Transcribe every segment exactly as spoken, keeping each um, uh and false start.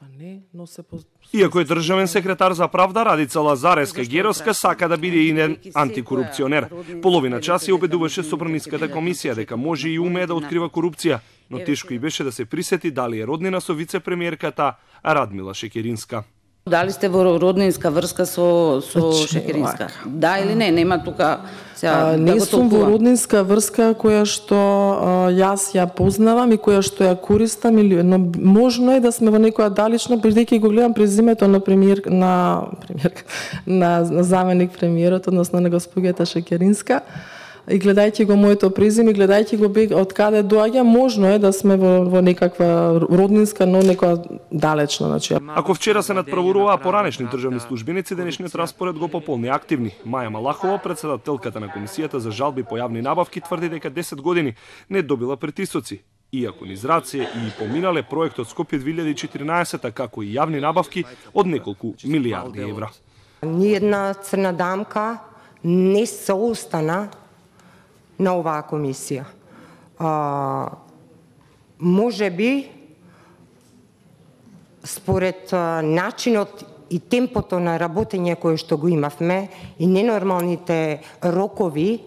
Па не, но се по... Иако е државен секретар за правда, Радица Лазареска Геровска сака да биде и антикорупционер. Половина час ја убедуваше Собраниската комисија дека може и умее да открива корупција, но тешко и беше да се присети дали е роднина со вице-премиерката Радмила Шекеринска. Дали сте во роднинска врска со со Шекеринска? Да или не, нема тука сега не да сум во роднинска врска која што а, јас ја познавам и која што ја користам, или но можно е да сме во некоја далечна, бидејќи го гледам презимето на премиер на премиерка на, на заменик премиерот, односно на госпогата Шекеринска. И гледајќи го моето презиме, гледајќи го од каде доаѓа, можно е да сме во, во некаква роднинска, но некоја далечна, значи. Ако вчера се надправуруваа поранешни државни службеници, денешниот распоред го пополни активни. Маја Малахова, председателката на комисијата за жалби по јавни набавки, тврди дека десет години не добила притисоци. Иако низ раце и поминале проектот Скопје две илјади и четиринаесета, како и јавни набавки од неколку милијарди евра. Ни една црна дамка не се остана на оваа комисија. А, може би, според а, начинот и темпото на работење кое што го имавме и ненормалните рокови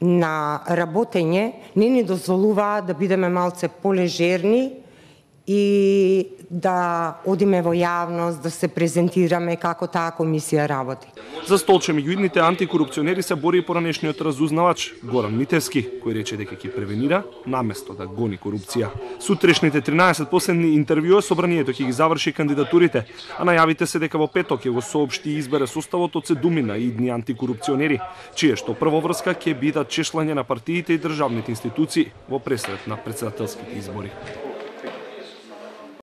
на работење, не ни дозволуваа да бидеме малце полежерни и да одиме во јавност, да се презентираме како таа комисија работи. За столче меѓу идните антикорупционери се бори и поранешниот разузнавач Горан Митевски, кој рече дека ќе превенира наместо да гони корупција. Сутрешните тринаесет последни интервјуа собранието ќе ги заврши кандидатурите, а најавите се дека во петок ќе го соопшти и избере составот од седумина идни антикорупционери, чие што првоврска ќе бидат чешлање на партиите и државните институции во пресрет на претседателските избори.